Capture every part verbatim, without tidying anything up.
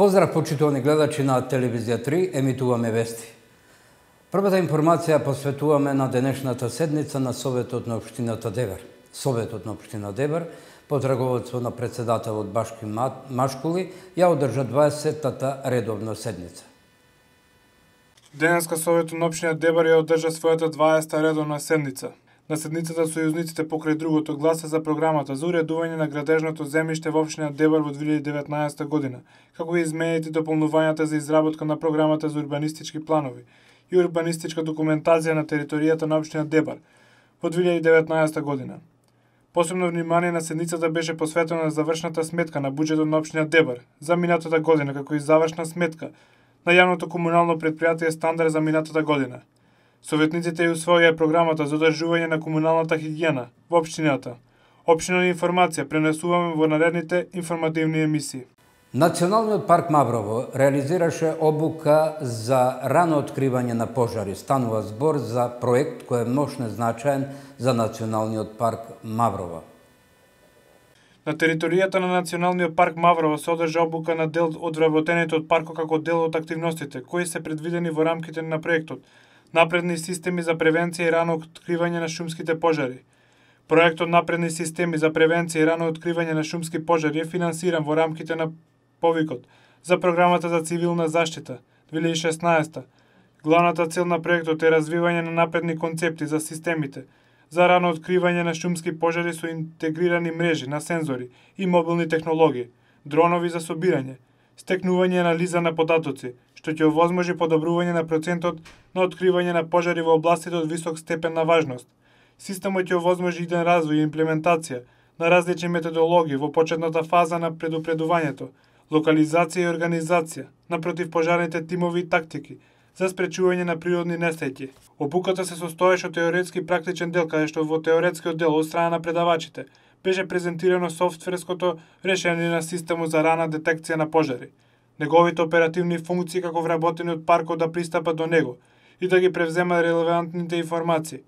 Поздрав, почитувани гледачи на Телевизија три, емитуваме вести. Првата информација посветуваме на денешната седница на Советот на Општината Дебар. Советот на Општина Дебар, под раководство на председателот Башки Машкули, ја одржа дваесеттата редовна седница. Денеска Советот на Општина Дебар ја одржа својата дваесетта редовна седница. На седницата сојузниците покрај другото гласа за програмата за уредување на градежното земјиште во Општина Дебар во две илјади и деветнаесетта година, како и измените и дополнувањата за изработка на програмата за урбанистички планови и урбанистичка документација на територијата на Општина Дебар во две илјади и деветнаесетта година. Посебно внимание на седницата беше посветено на завршната сметка на буџетот на Општина Дебар за минатата година, како и завршна сметка на јавното комунално предпријатие Стандард за минатата година. Советниците ја усвоија програмата за одржување на комуналната хигиена во општината. Општина информација пренесуваме во наредните информативни емисии. Националниот парк Маврово реализираше обука за рано откривање на пожари. Станува збор за проект кој е мощно значаен за Националниот парк Маврово. На територијата на Националниот парк Маврово се одржа обука на дел од вработените од паркот како дел од активностите кои се предвидени во рамките на проектот Напредни системи за превенција и рано откривање на шумските пожари. Проектот Напредни системи за превенција и рано откривање на шумски пожари е финансиран во рамките на повикот за програмата за цивилна заштита две илјади и шеснаесетта. Главната цел на проектот е развивање на напредни концепти за системите за рано откривање на шумски пожари со интегрирани мрежи на сензори и мобилни технологии, дронови за собирање, стекнување и анализа на податоци, што ќе овозможи подобрување на процентот на откривање на пожари во областите од висок степен на важност. Системот ќе овозможи иден развој и имплементација на различни методологии во почетната фаза на предупредувањето, локализација и организација на противпожарните тимови и тактики за спречување на природни несреќи. Обуката се состоеше од теоретски и практичен дел, каде што во теоретскиот дел од страна на предавачите беше презентирано софтверското решение на системот за рана детекција на пожари, неговите оперативни функции како вработени од паркот да пристапат до него и да ги превземат релевантните информации.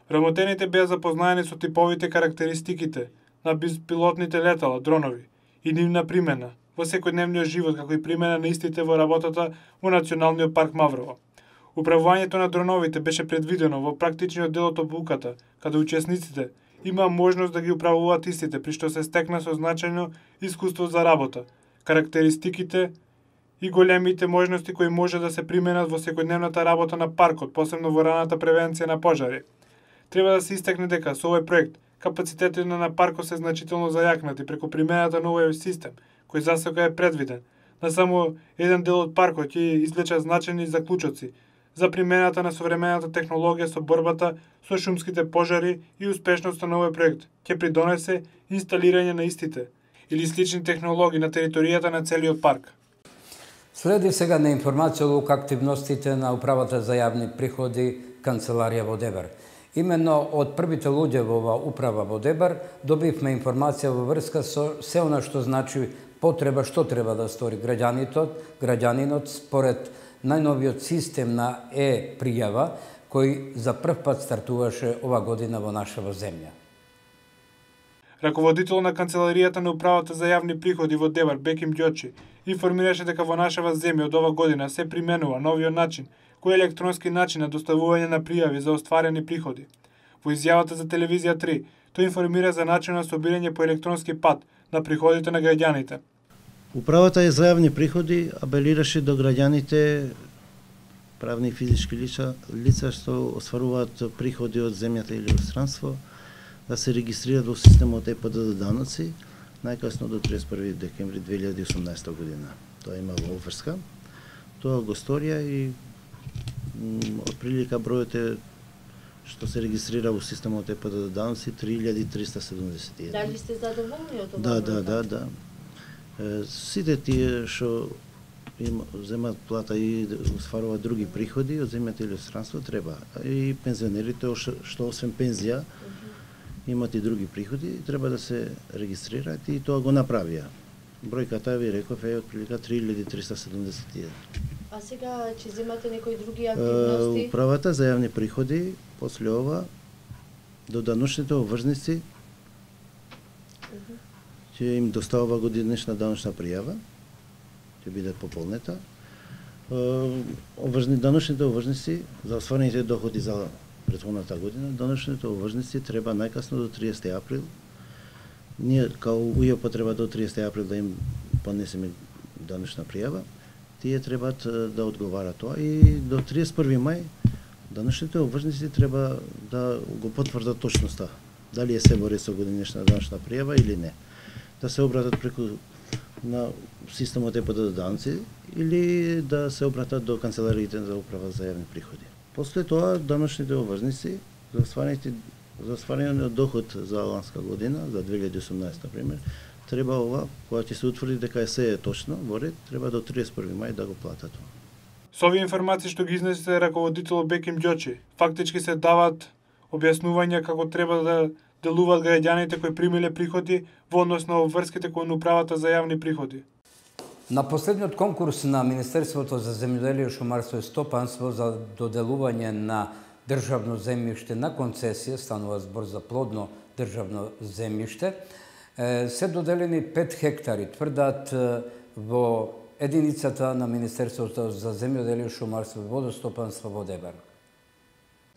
Вработените беа запознаени со типовите карактеристиките на безпилотните летала, дронови и нивна примена во секојдневниот живот, како и примена на истите во работата во Националниот парк Маврово. Управувањето на дроновите беше предвидено во практичниот дел од обуката, каде учесниците има можност да ги управуваат истите, при што се стекна со значајно искуство за работа, карактеристиките и големите можности кои може да се применат во секојдневната работа на паркот, посебно во раната превенција на пожари. Треба да се истакне дека со овој проект капацитетите на паркот се значително зајакнати преку примената на овој систем, кој засега е предвиден. На само еден дел од паркот ќе извлечат значајни заклучоци за примената на современата технологија со борбата со шумските пожари и успешноста на овој проект ќе придонесе инсталирање на истите или слични технологии на територијата на целиот парк. Следи сега на информација од активностите на Управата за јавни приходи Канцеларија во Дебар. Именно од првите луѓе во ова управа во Дебар добивме информација во врска со се она што значи потреба, што треба да стори граѓанинот, граѓанинот според најновиот систем на е-пријава кој за прв пат стартуваше ова година во нашава земја. Раководител на Канцеларијата на Управата за јавни приходи во Дебар, Беким Ѓочи, информираше дека во нашава земја од ова година се применува новиот начин, кој е електронски начин на доставување на пријави за остварени приходи. Во изјавата за Телевизија три, тој информира за начин на собирање по електронски пат на приходите на граѓаните. Управата за јавни приходи апелираше до граѓаните, правни и физички лица, лица што остваруваат приходи од земјата или од странство, да се регистрираат во системот Е П Д Д даноци најкасно до триесет и први декември две илјади и осумнаесетта година. Тоа има во обврска. Тоа го сторија и отприлика бројот е што се регистрира во системот Е П Д Д даноци три илјади триста седумдесет и еден. Дали сте задоволни од ова? Да, да, да, да. Сите тие што земат плата и остваруваат други приходи од земјата или од странство треба. И пензионерите што освен пензија имат и други приходи, треба да се регистрираат и тоа го направија. Бројката ви реков е отприлика три илјади триста седумдесет и еден. А сега ќе земате некои други активности? Управата за јавни приходи после ова до даночните обврзници ќе им доставува годинешна даночна пријава ќе биде пополнета. Овржни даночните овржници за остварените доходи за претходната година, даночните овржници треба најкасно до триесети април. Ние као УЈП треба до триесети април да им поднесеме даночна пријава. Тие требаат да одговарат тоа и до триесет и први мај даночните овржници треба да го потврдат точноста, дали е се во ред со годинешна даночна пријава или не. Да се обратат преку на системот Е П Д данци или да се обратат до канцелариите за управа за јавни приходи. После тоа даночните овржници за остварените за остварениот доход за ланска година, за две илјади и осумнаесета пример, треба ова, кога ќе се утврди дека се е точно во ред, треба до триесет и први мај да го платат. Со овие информации што ги изнесе раководител Беким Ѓочи, фактички се дават објаснувања како треба да делуваат граѓаните кои примиле приходи во однос на обврските кон управата за јавни приходи. На последниот конкурс на Министерството за земјоделие, шумарство и стопанство за доделување на државно земјиште на концесија, станува збор за плодно државно земјиште, се доделени пет хектари, тврдат во единицата на Министерството за земјоделие, шумарство и водостопанство во Дебар.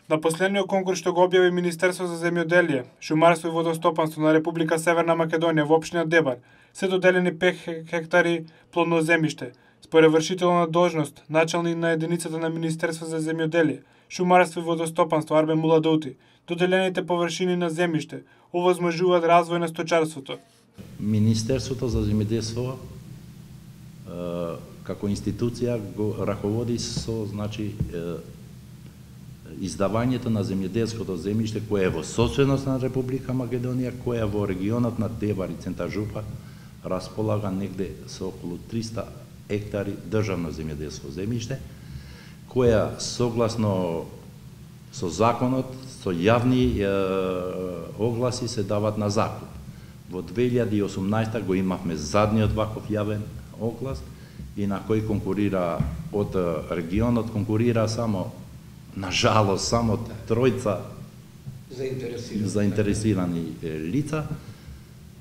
На последниот конкурс што го објави Министерство за земјоделие, шумарство и водостопанство на Република Северна Македонија во општина Дебар, се доделени пет хектари плодно земјиште. Според вршител на должност, началник на единицата на Министерство за земјоделие, шумарство и водостопанство Арбен Муладоути, доделените површини на земјиште овозможуваат развој на сточарството. Министерството за земјоделство како институција го раководи со, значи, издавањето на земјоделското земјиште кое е во собственост на Република Македонија, која во регионот на Дебар и Центар Жупа располага негде со околу триста хектари државно земјоделско земјиште, која согласно со законот, со јавни е, огласи се дават на закуп. Во две илјади и осумнаесета го имавме задниот ваков јавен оглас и на кој конкурира од регионот, конкурира само, на жалост, само тројца заинтересирани, заинтересирани лица,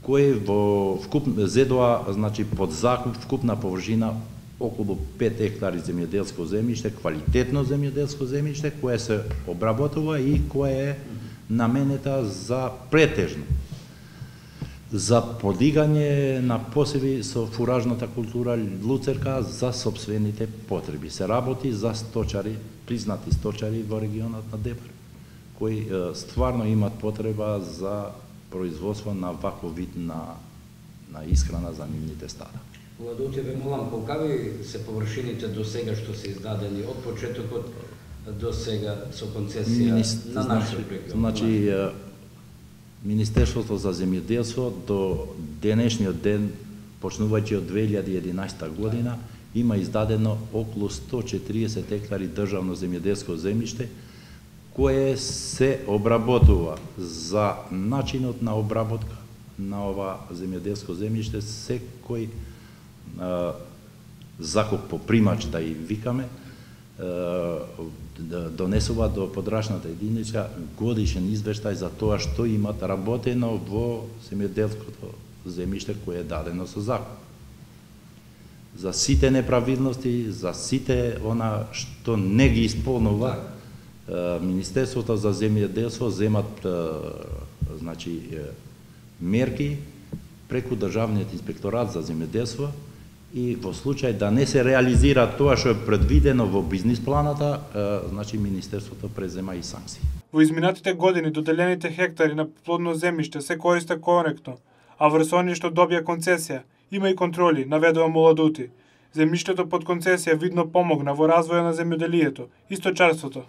кои во вкуп зедоа, значи под закуп вкупна површина околу пет хектари земјоделско земјиште, квалитетно земјоделско земјиште, кое се обработува и кое е наменета за претежно за подигање на посеви со фуражната култура луцерка за сопствените потреби. Се работи за сточари, признати сточари во регионот на Дебар, кои е, стварно имат потреба за производство на ваков вид на, на исхрана за нивните стада. Муладоути, ве молам, колкави се површините до сега што се издадени од почетокот до сега со концесија Министр, на нашиот регион? Значи, Министерството за земјоделство до денешниот ден, почнувајќи од две илјади и единаесета година, има издадено околу сто четириесет хектари државно земјоделско земјиште, кое се обработува за начинот на обработка на ова земјоделско земјиште, секој е, закуп по примач, да и викаме, донесува до подрачната единица годишен извештај за тоа што имат работено во земјоделското земјиште кое е дадено со закон. За сите неправилности, за сите она што не ги исполнува, Министерството за земјоделство земат значи мерки преку Државниот инспекторат за земјоделство и во случај да не се реализира тоа што е предвидено во бизнис планата, значи Министерството презема и санкции. Во изминатите години доделените хектари на плодно земјиште се користе коректно, а врз оние што добија концесија има и контроли, наведува Муладоути. Земјиштето под концесија видно помогна во развојот на земјоделието и сточарството.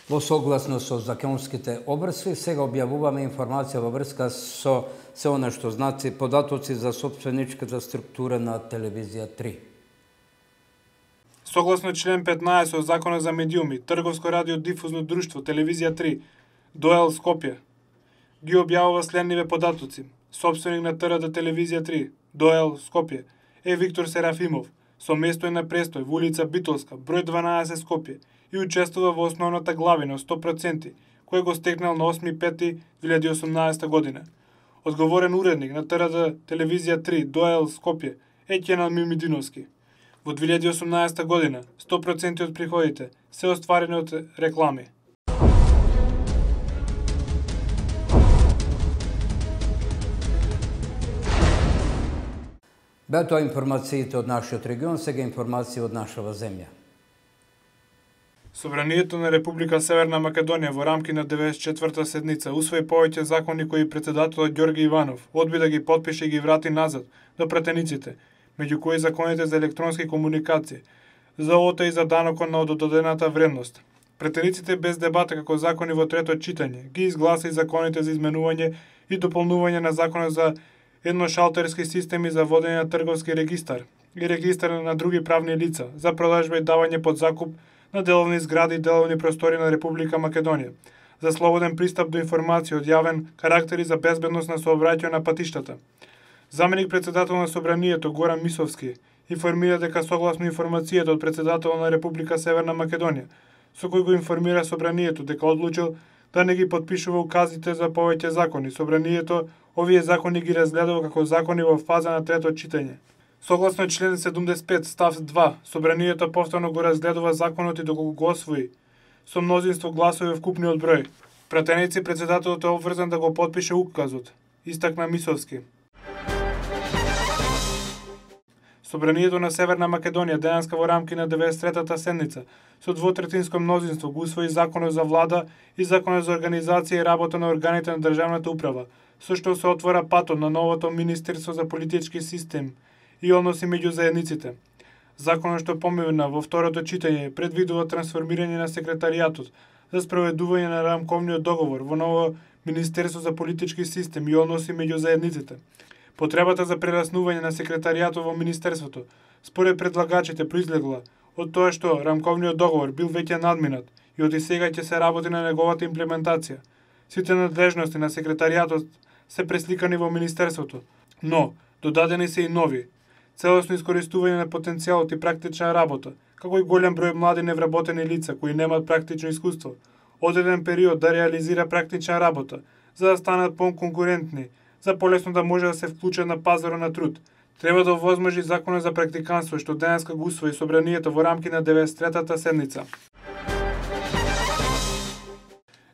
Во согласно со законските обрски, сега објавуваме информација во врска со се она што значи податоци за собственичката структура на телевизија три. Согласно член петнаесет од Законот за медиуми, Трговско радиодифузно друштво Телевизија три, ДОЕЛ Скопје, ги објавува следниве податоци. Собственик на Т Р Д Телевизија три, ДОЕЛ Скопје, е Виктор Серафимов, со место на престој во улица Битолска, број дванаесет Скопје, и учествува во основната главина сто проценти, кој го стекнал на осми пети две илјади и осумнаесета година. Одговорен уредник на Т Р Д Телевизија три, ДОЕЛ Скопје, е Кенал Мимидиновски. Во две илјади и осумнаесета година, сто проценти од приходите се остварени од реклами. Беа тоа информациите од нашиот регион, сега информации од нашава земја. Собранието на Република Северна Македонија во рамки на деветдесет и четврта седница усвои повеќе закони кои претседателот Ѓорги Иванов одби да ги потпише и ги врати назад до пратениците, меѓу кои законите за електронски комуникации, за ОТА и за данокот на додадената вредност. Пратениците без дебата како закони во трето читање ги изгласа и законите за изменување и дополнување на законот за едношалтерски системи за водење на трговски регистар и регистар на други правни лица за продажба и давање под закуп на деловни згради и деловни простори на Република Македонија, за слободен пристап до информација од јавен карактер и за безбедност на сообраќајот на патиштата. Заменик председател на Собранието Горан Мисовски информира дека согласно информацијата од председателот на Република Северна Македонија, со кој го информира Собранието дека одлучил да не ги потпишува указите за повеќе закони, Собранието овие закони ги разгледува како закони во фаза на трето читање. Согласно член седумдесет и пет став два, Собранието повторно го разгледува законот и доколку го освои со мнозинство гласови вкупниот број. Пратеници председателот е обврзан да го потпише указот, истакна Мисовски. Собранието на Северна Македонија денеска во рамки на деветдесет и третата седница со двотретинско мнозинство го усвои законот за влада и законот за организација и работа на органите на државната управа, со што се отвора патот на новото Министерство за политички систем и односи меѓу заедниците. Законот што помина во второто читање предвидува трансформирање на секретаријатот за спроведување на рамковниот договор во ново Министерство за политички систем и односи меѓу заедниците. Потребата за прераснување на секретаријатот во Министерството, според предлагачите, произлегла од тоа што рамковниот договор бил веќе надминат и од сега ќе се работи на неговата имплементација. Сите надлежности на секретаријатот се пресликани во Министерството, но додадени се и нови. Целосно искористување на потенцијалот и практична работа, како и голем број млади невработени лица кои немаат практично искуство, одреден период да реализира практична работа, за да станат по-конкурентни, за полесно да може да се вклучат на пазарот на труд. Треба да овозможи законот за практиканство што денеска го усвои Собранието во рамки на деветдесет и третата седница.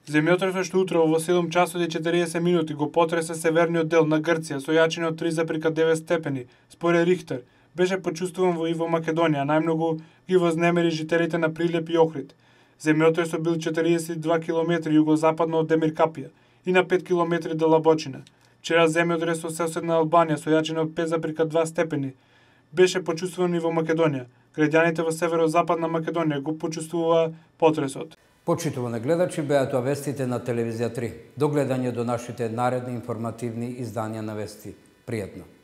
Земјотресот што утрово во седум часот и четириесет минути го потресе северниот дел на Грција со јачина од три зарез девет степени, според Рихтер, беше почувствуван во и во Македонија, најмногу ги вознемери жителите на Прилеп и Охрид. Земјотресот бил четириесет и два километри југозападно од Демиркапија и на пет километри до Лабочина. Вчера земјотрес во соседна Албанија со јачина од пет зарез два степени беше почувствуван и во Македонија. Граѓаните во северозападна Македонија го почувствуваа потресот. Почитувани гледачи, беа тоа вестите на Телевизија три. До гледање до нашите наредни информативни изданија на вести. Пријатно!